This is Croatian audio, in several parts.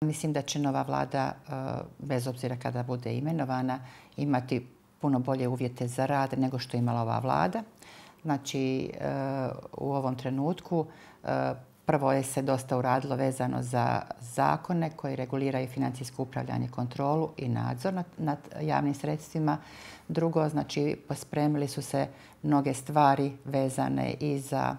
Mislim da će nova vlada, bez obzira kada bude imenovana, imati puno bolje uvjete za rad nego što je imala ova vlada. Znači, u ovom trenutku prvo je se dosta uradilo vezano za zakone koji reguliraju financijsko upravljanje, kontrolu i nadzor nad javnim sredstvima. Drugo, znači, pospremili su se mnoge stvari vezane i za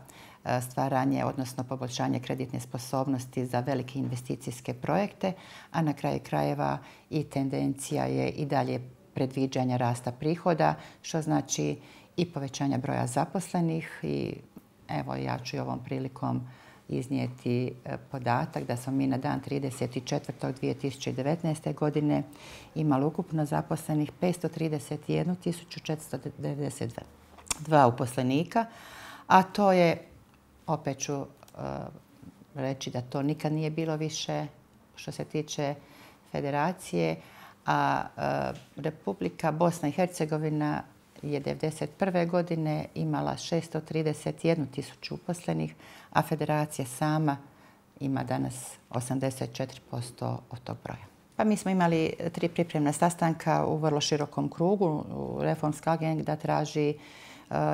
stvaranje, odnosno poboljšanje kreditne sposobnosti za velike investicijske projekte, a na kraju krajeva i tendencija je i dalje predviđanja rasta prihoda, što znači i povećanja broja zaposlenih. I evo, ja ću i ovom prilikom iznijeti podatak da smo mi na dan 30.4.2019. godine imali ukupno zaposlenih 531.492 uposlenika, a to je, opet ću reći da to nikad nije bilo više što se tiče federacije, a Republika Bosna i Hercegovina je 1991. godine imala 631.000 uposlenih, a federacija sama ima danas 84% od tog broja. Pa mi smo imali 3 pripremna sastanka u vrlo širokom krugu. Reformska agenda traži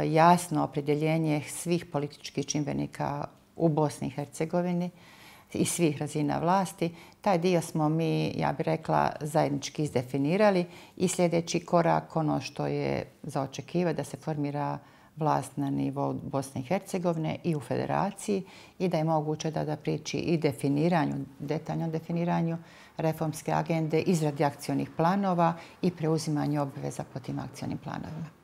jasno opredjeljenje svih političkih čimbenika u Bosni i Hercegovini i svih razina vlasti. Taj dio smo mi, ja bih rekla, zajednički izdefinirali i sljedeći korak, ono što je za očekivati, da se formira vlast na nivou Bosne i Hercegovine i u federaciji i da je moguće da priči i definiranju, detaljnom definiranju reformske agende, izradi akcionih planova i preuzimanju obveza po tim akcionim planovima.